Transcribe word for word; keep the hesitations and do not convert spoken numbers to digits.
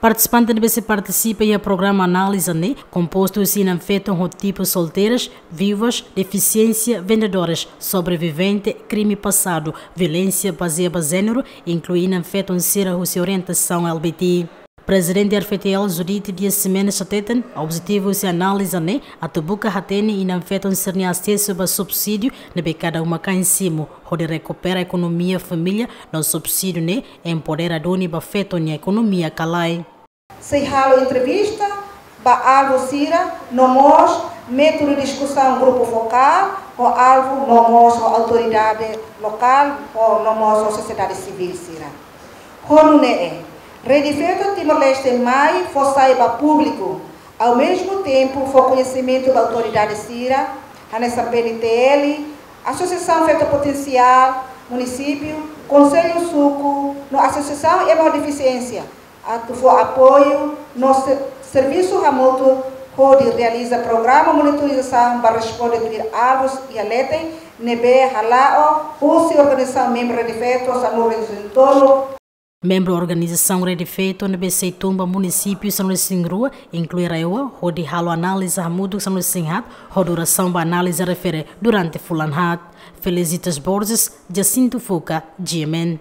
Partisipante ne'ebé sei partisipa iha programa análize ne'e kompostu husi inan-feton ho tipu solteiras, viúvas, defisiénsia, vendedores, sobrevivente, krime pasadu, violénsia bazeia ba jéneru, inklui inan-feton sira husi orientasaun L B T. Prezidente R F T L Judite Dias Ximenes hateten, objetivu husi análize ne'e atu buka hatene inan-feton sira-nia asesu ba subsídiu ne'ebé kada uma-kain simu, hodi rekupera ekonomia família, no subsídiu ne'e empodera duni ba feton nia ekonomia kalae. Sei halo entrevista ba alvu sira, no mós métodu diskusaun grupu fokál ho alvu, no mós ho autoridade lokál, ho, no mós ho sosiedade sivíl sira. Ho nune'e, Rede Feto Timor-Leste mai fó sai ba públiku, ao mesmo tempo fó koñesimentu ba autoridade sira, hanesan P N T L, Asosiasaun Feto Potensiál, munisípiu, konsellu suku, no asosiasaun ema ho defisiénsia, atu fó apoiu no se-, servisu hamutuk hodi realiza programa monitorizasaun ba responde tuir alvus iha leten ne'ebé hala'o husi organizasaun membru Rede Feto sanulu-resin-tolu. Membru organizasaun Rede Feto ne'ebé sei tun ba munisípiu sanulu-resin-rua, inklui RAEOA, hodi halo análize hamutuk sanulu-resin-haat, ho durasaun ba análize refere durante fulan haat. Felicitas Borges, Jacinto Fuca, G M N.